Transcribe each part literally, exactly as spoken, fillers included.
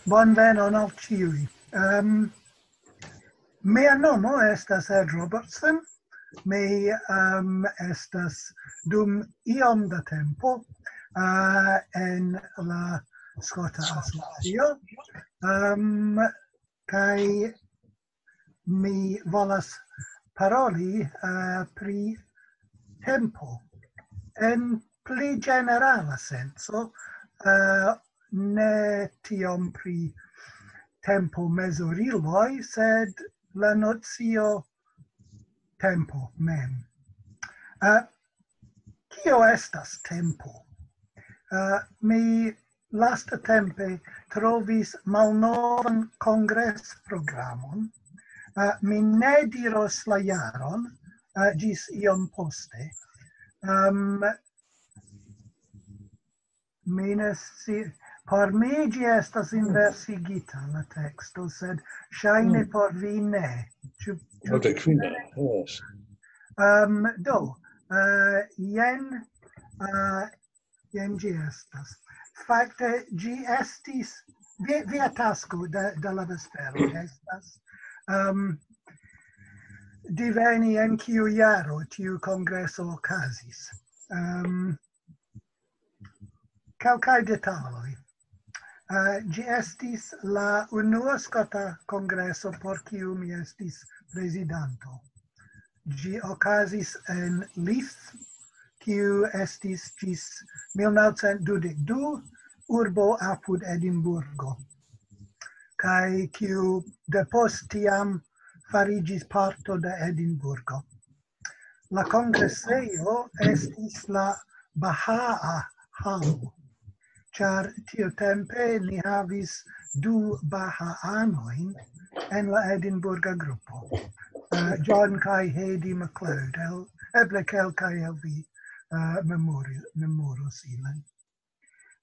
Bonvenon al ĉiuj. Um, mia nomo estas Ed Robertson. Mi um, estas dum iom da tempo uh, en la Skota Asocio. Um, kaj mi volas paroli uh, pri tempo en pli ĝenerala senco, uh, ne tiom pri tempo mezuriloj, sed la nocio tempo mem. Uh, kio estas tempo? Uh, mi lastatempe trovis malnovan kongresprogramon. Uh, mi ne diros la jaron, uh, ĝis iom poste. Um, mi ne sci-, por mi ĝi estas inversigita la teksto, sed ŝajne mm. por vi ne. Ĉu, ĉu Note kvina, yes. Um, do, uh, jen, uh, jen ĝi estas. Fakte, ĝi estis, vi, via tasko de, de la vespero estas um, diveni en kiu jaro tiu kongreso okazis. Um, kelkaj detaloj. Uh, ĝi estis la unua skota kongreso por kiu mi estis prezidanto. Ĝi okazis en Leith, kiu estis ĝis mil naŭcent dudek du urbo apud Edinburgo, kaj kiu depost tiam fariĝis parto de Edinburgo. La kongresejo estis la Bahaa Halo, ĉar tiutempe ni havis du Bahaanojn en la Edinburga grupo. Uh, John kaj Heidi MacLeod, el, eble kelkaj el vi uh, memori, memoros ilin.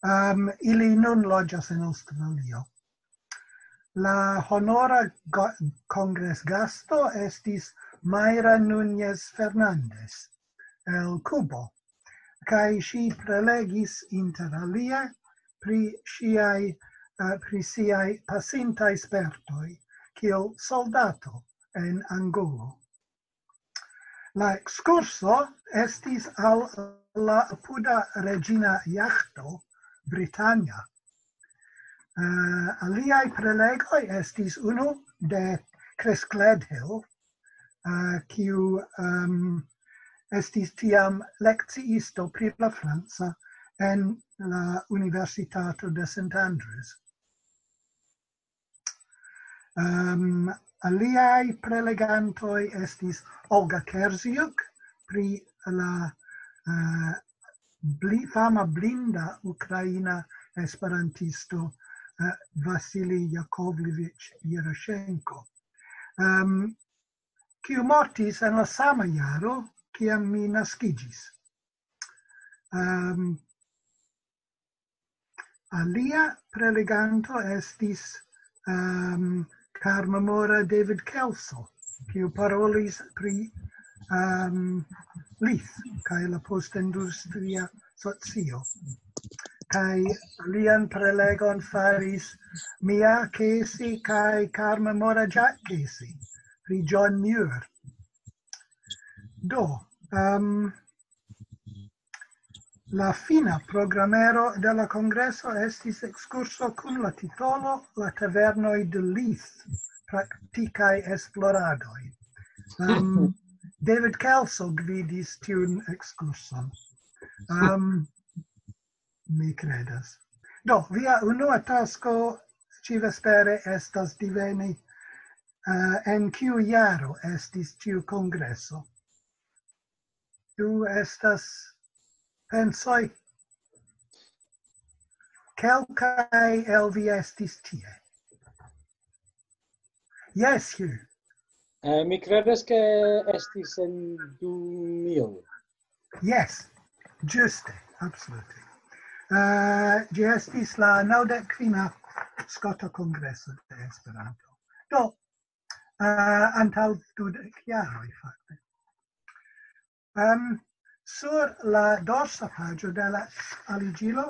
Um, ili nun loĝas en Aŭstralio. La honora kongresgasto estis Mayra Núñez Fernández el Kubo, kaj ŝi prelegis inter alia pri ŝiaj uh, pri siaj pasintaj spertoj kiel soldato en Angolo. La ekskurso estis al la apuda reĝina jaĥto Britannia. Uh, aliaj prelegoj estis unu de Chris Gledhill, uh, kiu um, estis tiam lekciisto pri la franca en la Universitato de St. Andrews. Um, aliaj prelegantoj estis Olga Kerziuk pri la uh, bli, fama blinda ukraina esperantisto uh, Vasili Jakovlevich Yeroshenko, um, kiu mortis en la sama jaro, kiam mi naskiĝis. Um, Alia preleganto estis um, Carmemora David Kelso, kiu parolis pri um, Leith kaj la postindustria socio. Kaj alian prelegon faris Mia Casey kaj Carmemora Jack Casey pri John Muir. Do, um, la fina programero de la kongreso estis ekskurso kun la titolo La Tavernoj de Leith, praktikaj esploradoj. Um, David Kelso gvidis tiun ekskurson. Um, mi credas. Do, via unua tasko ĉi vespere estas diveni uh, en kiu jaro estis tiu kongreso. Ĉu estas pensoj? Kelkaj el vi estis tie. Yes, Hugh. Uh, mi credas ke estis en du mil. Yes, ĝuste, absolute. Uh, ĝi estis la naŭdek kvina Skota Kongreso de Esperanto. Do, uh, antaŭ dudek jaroj, fakte. Um, sur la dorsa paĝo de la aliĝilo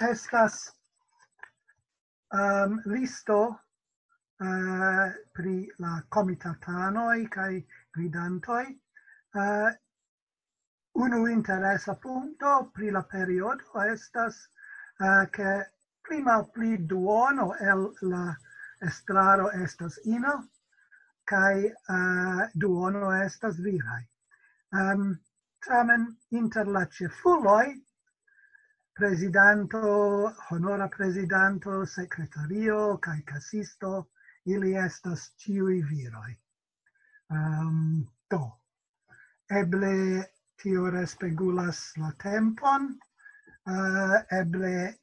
estas um, listo uh, pri la komitatanoj kaj gvidantoj. Uh, unu interesa punkto pri la periodo estas, uh, ke pli malpli duono el la estraro estas ino, kaj uh, duono estas viraj. Um, tamen inter la ĉefuloj, prezidanto, honora prezidanto, sekretario kaj kasisto, ili estas ĉiuj viroj. Um, do, eble tio respegulas la tempon, uh, eble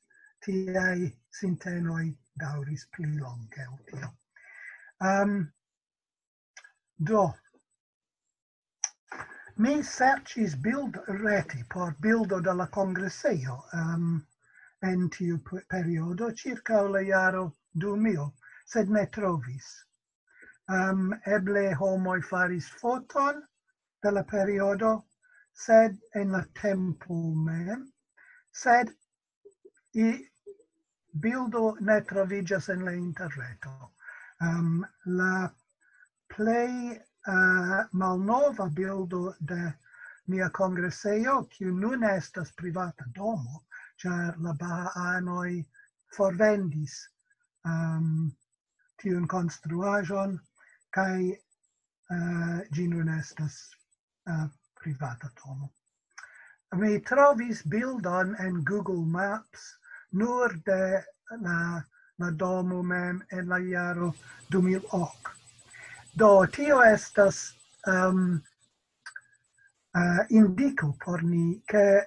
tiaj sintenoj daŭris pli longe ol tio. Um, do, mi serĉis bild reti por bildo de la kongresejo, um, en tiu pe- periodo ĉirkaŭ la jaro du mil, sed ne trovis. Um, eble homoj faris foton de la periodo, sed en la tempo mem, sed i bildo ne troviĝas en la interreto. Um, la plej uh, malnova bildo de nia kongresejo, kiu nun estas privata domo, ĉar la Bahaanoj forvendis um, tiun konstruaĵon, kaj uh, ĝi nun estas uh, privata domo. Mi trovis bildon en Google Maps nur de la, la domo mem en la jaro du mil ok. Do, tio estas um, uh, indiko por ni, ke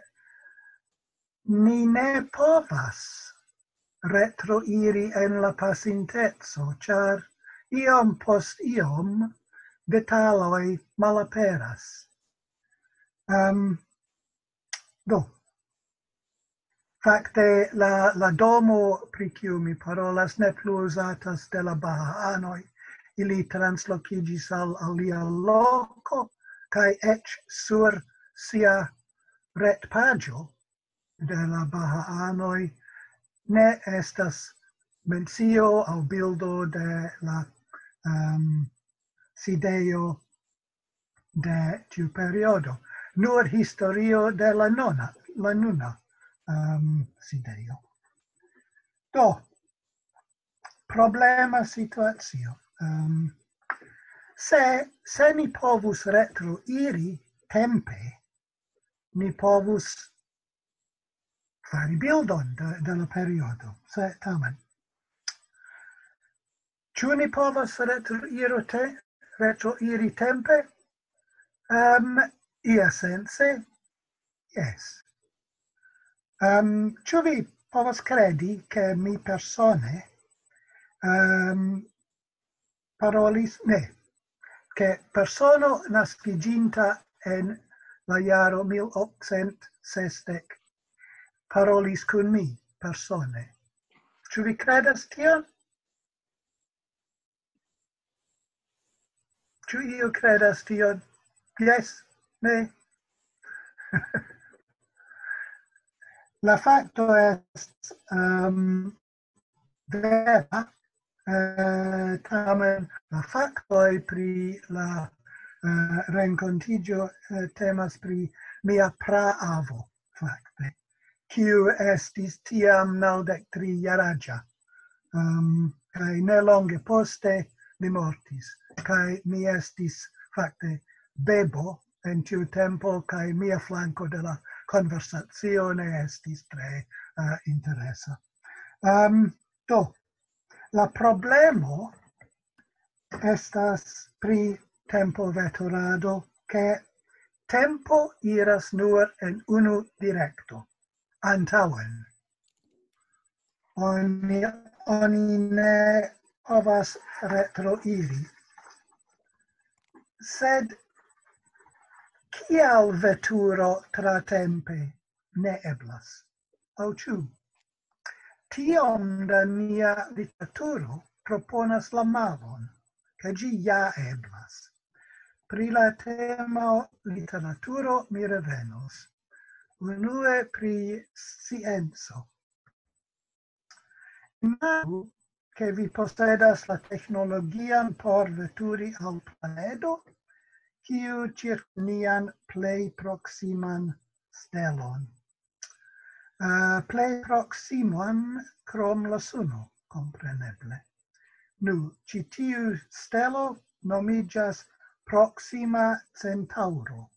ni ne povas retroiri en la pasinteco, ĉar iom post iom detaloj malaperas. Um, do, fakte la, la domo pri kiu mi parolas ne plu uzatas de la Bahaanoj. Ili translokiĝis al alia loko, kaj eĉ sur sia retpaĝo de la Bahaanoj ne estas mencio aŭ bildo de la um, sidejo de tiu periodo. Nur historio de la nona, la nuna um, sidejo. Do, problema situacio. Um, se, se ni povus retro iri tempe, ni povus fari bildon de, de la periodo. Se tamen. Ĉu ni povas retro iri, te, retro iri tempe? Um, ia sense, yes. Um, ĉu vi povas kredi, ke mi persone um, parolis, ne, ke persono naskiĝinta en la jaro mil okcent sesdek parolis kun mi persone? Ĉu vi kredas tion? Ĉu iu kredas tion? Yes? Ne? La fakto estas um, vera, eh, tamen la faktoj pri la eh, renkontiĝo eh, temas pri mia praavo, fakte, kiu estis tiam naŭdek tri jaraĝa, um, kaj ne longe poste li mortis, kaj mi estis fakte bebo en tiu tempo, kaj mia flanko de la konversacio ne estis tre uh, interesa. Um, do, la problemo estas pri tempo veturado, ke tempo iras nur en unu direkto, antaŭen. Oni, oni ne povas retroiri. Sed kial veturo tratempe ne eblas? Aŭ ĉu? Tiom da nia literaturo proponas la malon, ke ĝi ja eblas. Pri la temo literaturo mi revenos. Unue pri scienco. Imagu, ke vi posedas la teknologian por veturi al planedo, kiu ĉirk nian plej proksiman stelon. Uh, plej proksiman krom la suno, kompreneble. Nu, ĉi tiu stelo nomiĝas Proxima Centauro,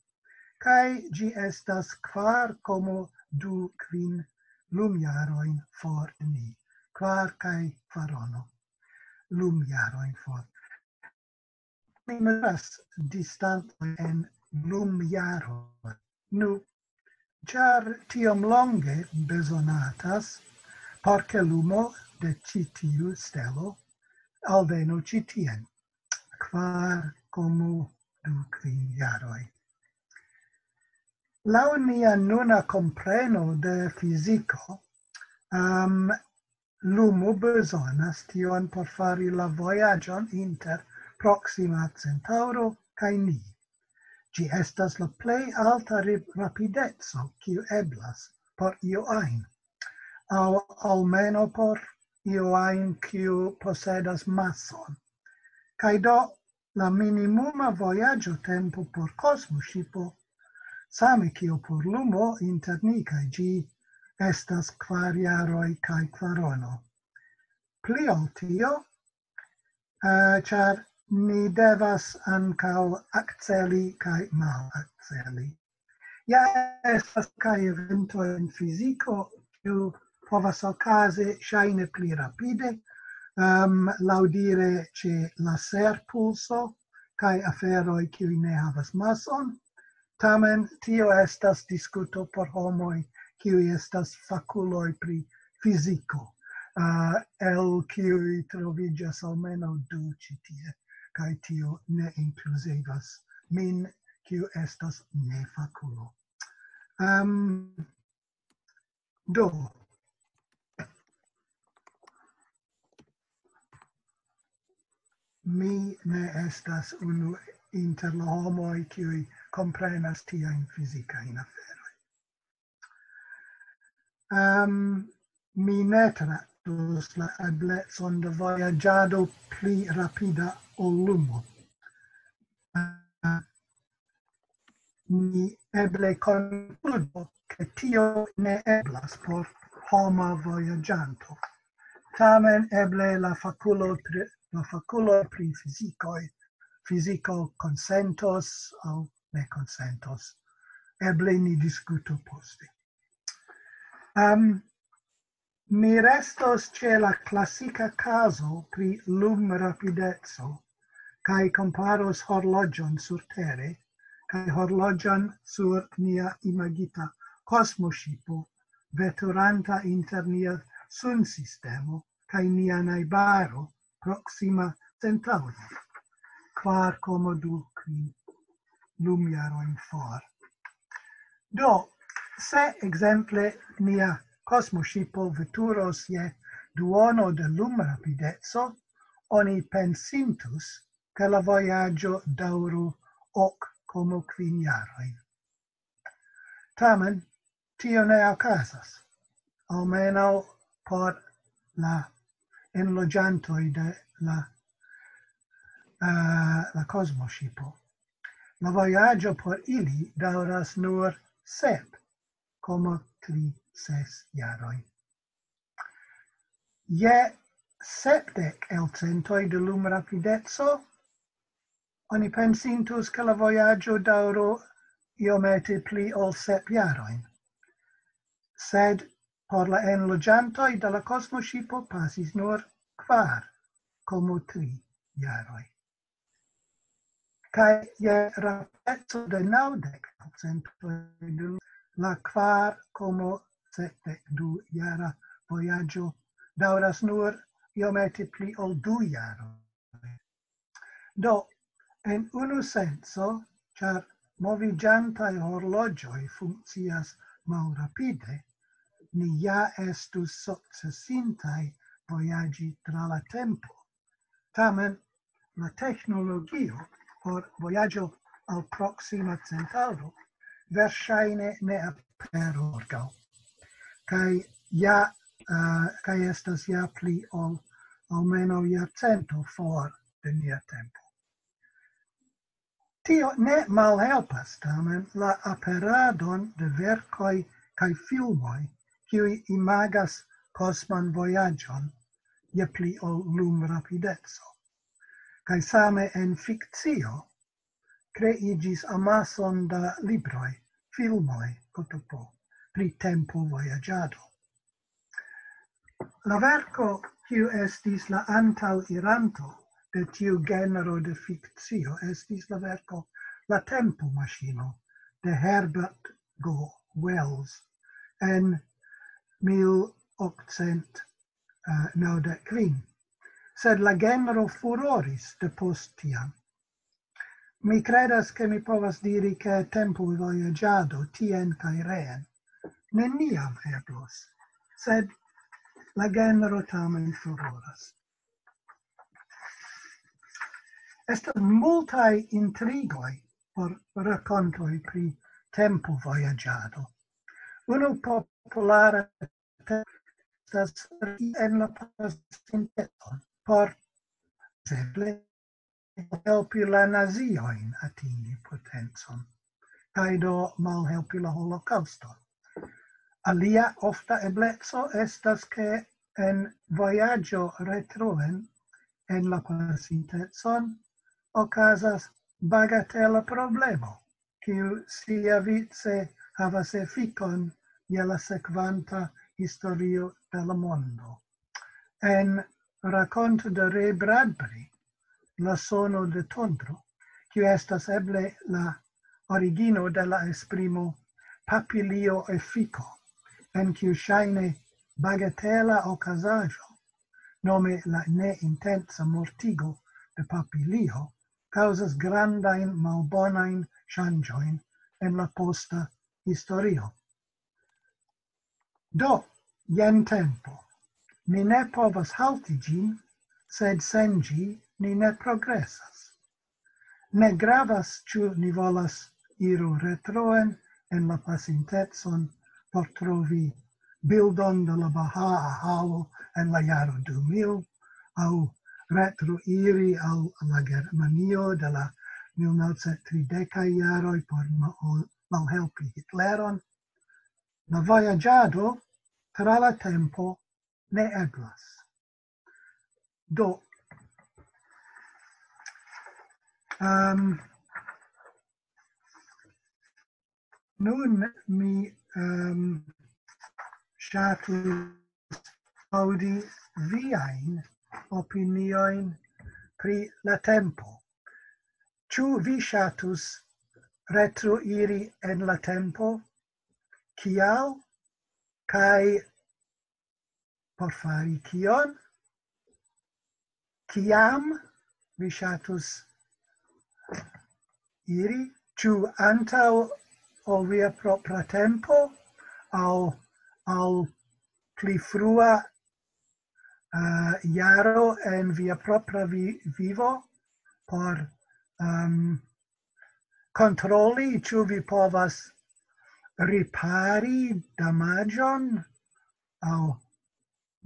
kaj ĝi estas kvar komo du kvin lumjarojn for de ni. Kvar kaj kvarono lumjarojn for. Mi mezuras distantojn en lumjaroj. Nu, ĉar tiom longe bezonatas, por ke lumo de ĉi tiu stelo alvenu ĉi tien, kvar komo du kvin jaroj. Laŭ nia nuna kompreno de fiziko, um, lumo bezonas tion por fari la vojaĝon inter Proxima Centauro kaj ni. Ĝi estas la plej alta ri-, rapideco, kiu eblas por io ajn, aŭ almeno por io ajn, kiu posedas mason. Kaj do la minimuma vojaĝo tempo por kosmoŝipo, same kiel por lumo inter ni kaj ĝi, estas kvar jaroj kaj kvarono. Pli ol tio, eh, ĉar ni devas ankaŭ akceli kaj malakceli. Ja estas kaj eventoj en fiziko, kiu povas okazi ŝajne pli rapide, um, laŭdire ĉe laserpulso kaj aferoj, kiuj ne havas mason. Tamen tio estas diskuto por homoj, kiuj estas fakuloj pri fiziko, uh, el kiuj troviĝas almenaŭ du ĉi tie, kaj tio ne inkluzivas min, kiu estas nefakulo. Um, do, mi ne estas unu inter la homoj, kiuj komprenas tiajn fizikajn aferojn. Um, mi ne traktus la eblecon de vojaĝado pli rapida ol lumo. Uh, ni eble konkludo, ke tio ne eblas por homa vojaĝanto. Tamen eble la fakulo pri, la fakulo pri fizikoj, fiziko konsentos aŭ ne konsentos. Eble ni diskutu poste. Um, mi restos ĉe la klasika kazo pri lumrapideco kaj komparos horloĝon surtere kaj horloĝon sur nia imagita kosmoŝipo, veturanta inter nia sunsistemo kaj nia najbaro Proxima Centauro, kvar komo du kvin lumjarojn for. Do, se ekzemple nia kosmoŝipo veturos je duono de lumrapideco, oni pensintus, ke la vojaĝo daŭru ok komo kvin jarojn. Tamen, tio ne okazas, almenaŭ por la enloĝantoj de la, eh, la kosmoŝipo. La vojaĝo por ili daŭras nur sep komo tri ses jaroj. Je sepdek elcentoj de lumrapideco, oni pensintus, ke la vojaĝo daŭro iomete pli ol sep jarojn. Sed por la enloĝantoj de la kosmoŝipo pasis nur kvar komo tri jaroj. Kaj je rapideco de naŭdek procentoj de la kvar komo sepdek du jara vojaĝo daŭras nur iomete pli ol du jaroj. Do, en unu senco, ĉar moviĝantaj horloĝoj funkcias malrapide, ni ja estus sukcesintaj vojaĝi tra la tempo. Tamen, la teknologio por vojaĝo al Proxima Centauro verŝajne ne aperu morgaŭ. Kaj ja uh, kaj estas ja pli ol almenaŭ jarcento for de nia tempo. Tio ne malhelpas tamen la aperadon de verkoj kaj filmoj, kiuj imagas kosman vojaĝon je pli ol lumrapideco. Kaj same en fikcio kreiĝis amason da libroj, filmoj, kotopo, pri tempo vojaĝado. La verko, kiu estis la antaŭiranto de tiu genro de fikcio, estis la verko La Tempo Maŝino de Herbert G. Wells en mil okcent naŭdek kvin. Sed la genro furoris de post tiam. Mi credas, ke mi povas diri, ke tempo vojaĝado tien kaj reen neniam eblos, sed la genro tamen furoras. Estas multaj intrigoj por rakontoj pri tempo vojaĝado. Unu populara estas en la pasinteco por eble helpi la naziojn atingi potencon, kaj do malhelpi la holokaŭston. Alia ofta ebleco estas, ke en vojaĝo retroen en la pasintecon okazas bagatela problemo, kiu siavice havas efikon je la sekvanta historio de la mondo. En rakonto de Ray Bradbury, La sono de tondro, kiu estas eble la origino de la esprimo papilio efiko, en kiu ŝajne bagatela okazaĵo, nome la neintensa mortigo de papilio, kaŭzas grandajn malbonajn ŝanĝojn en la posta historio. Do, jen tempo. Ni ne povas halti ĝin, sed sen ĝi ni ne progresas. Ne gravas, ĉu ni volas iru retroen en la pasintecon por trovi bildon de la Bahaa Halo en la jaro du mil, aŭ retroiri al la Germanio de la mil novcent tridekaj jaroj por ma-, malhelpi Hitleron. La vojaĝado tra la tempo ne eblas. Do, um, nun mi um, ŝatus aŭdi viajn opiniojn pri la tempo. Ĉu vi ŝatus retroiri en la tempo? Kial? Kaj por fari kion? Kiam vi ŝatus iri? Ĉu antaŭ ol via propra tempo aŭ al pli frua uh, jaro en via propra vi vivo por um, kontroli, ĉu vi povas ripari damaĝon aŭ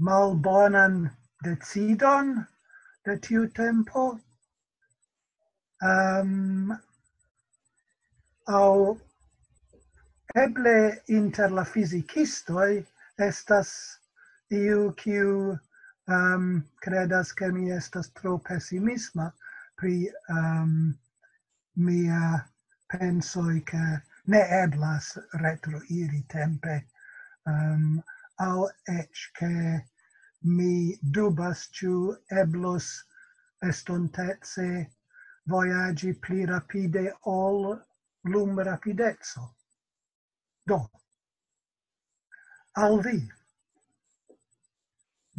malbonan decidon de tiu tempo. Um, aŭ eble inter la fizikistoj estas iu, kiu um, credas, ke mi estas tro pesimisma pri um, mia pensoj, ke ne eblas retroiri tempe, um, aŭ eĉ ke mi dubas, ĉu eblos estontece vojaĝi pli rapide ol lumrapideco. Do, al vi,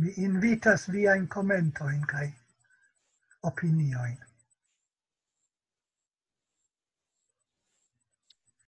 mi invitas viajn komentojn kaj opiniojn.